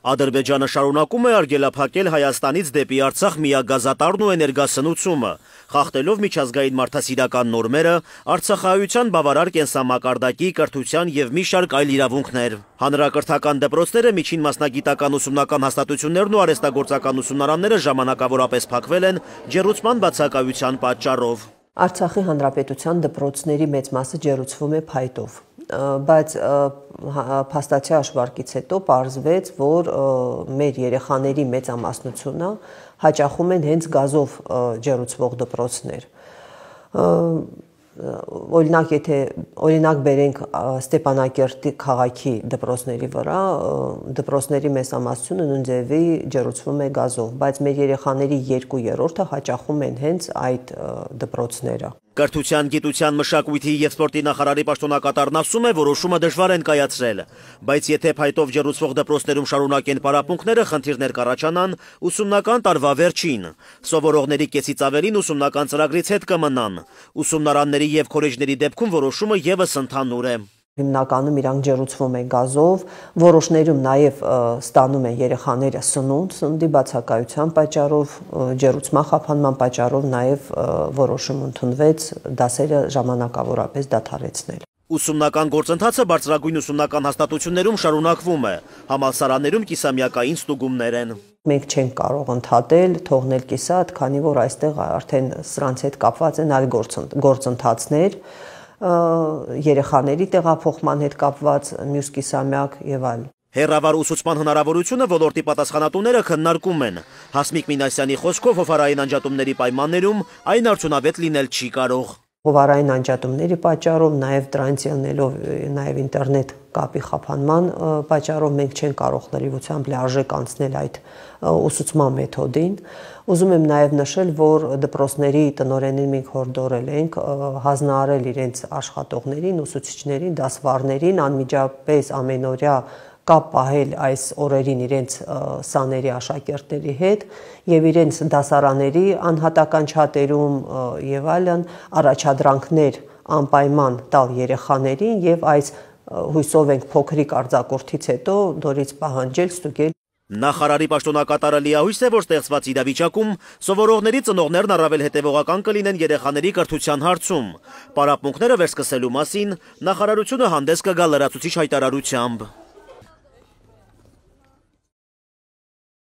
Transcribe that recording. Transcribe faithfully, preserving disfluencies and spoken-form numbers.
Ադրբեջանը շարունակում է արգելափակել Հայաստանից դեպի Արցախ միագազատարն ու էներգասնությունը, խախտելով միջազգային մարդասիրական նորմերը, արցախահայության բավարար կենսամակարդակի, կրթության և մի շարք այլ իրավունքներ։ Հանրակրթական դպրոցները, միջին մասնագիտական ուսումնական հաստատություններն ու արհեստագործական ուսումնարանները ժամանակավորապես փակվել են ջեռուցման բացակայության պատճառով։ Արցախի հանրապետության դպրոցների մեծ մասը ջեռուցվում է փայտով, բայց փաստացի հաշվարկից հետո պարզվեց, որ մեր երեխաների մեծամասնությունը հաճախում են հենց գազով ջեռուցվող դպրոցներ։ Օրինակ, եթե օրինակ բերենք Ստեփանակերտի քաղաքի դպրոցների վրա, դպրոցների մեծամասնությունը նույն ձևի ջեռուցվում է գազով, բայց մեր երեխաների երկու երրորդը հաճախում են հենց այդ դպրոցները։ Կրթության, գիտության, մշակույթի և սպորտի նախարարի պաշտոնակատարն ասում է, որոշումը դժվար են կայացրել, բայց եթե փայտով ջեռուցվող դպրոցներում շարունակեն պարապմունքները, խնդիրներ կառաջանան ուսումնական տարվա վերջին։ Սովորողների կեսից ավելին ուսումնական ծրագրից հետ կմնան։ Ուսումնարանների և քոլեջների դեպքում որոշումը ևս ընդհանուր է։ Հիմնականում իրանք ջեռուցվում են գազով, որոշներում նաև ստանում են երեխաները սնունդ, սննդի բացակայության պատճառով, ջեռուցման խափանման պատճառով նաև որոշում ընդունվեց դասերը ժամանակավորապես դադարեցնել։ Ուսումնական գործընթացը բարձրագույն ուսումնական հաստատություններում շարունակվում է, համալսարաններում կիսամյակային ստուգումներ են։ Մենք չենք կարող ընդհատել, թողնել կիսատ, քանի որ այստեղ արդեն սրանց հետ կապված են այլ գործընթացներ, երեխաների տեղափոխման հետ կապված մյուս կիսամյակ եւ այլ։ Հեռավար ուսուցման հնարավորությունը ոլորտի պատասխանատուները քննարկում են։ Հասմիկ Մինասյանի խոսքով հովարային անջատումների պայմաններում այն արդյունավետ լինել չի կարող։ Հովարային անջատումների պատճառով, նաև դրանից ելնելով նաև ինտերնետ կապի խափանման պատճառով մենք չենք կարող լրիվությամբ լիարժեք անցնել այդ ուսուցման մեթոդին։ Ուզում եմ նաև նշել, որ դպրոցների տնօրենին մենք հորդորել ենք հանձնարարել իրենց աշխատողներին, ուսուցիչներին, դասվարներին անմիջապես ամենօրյա կապ պահել այս օրերին իրենց սաների աշակերտների հետ եւ իրենց դասարանների անհատական չաթերում եւ այլն առաջադրանքներ անպայման տալ երեխաներին եւ այս հույսով ենք փոքրիկ արձակուրդից հետո նորից պահանջել ստուգել։ Նախարարի պաշտոնակատարը լիահույս է, որ ստեղծված իրավիճակում սովորողների ծնողներն առավել հետևողական կլինեն երեխաների կրթության հարցում։ Պարապմունքները վերսկսելու մասին նախարարությունը հանդես կգա լրացուցիչ հայտարարությամբ։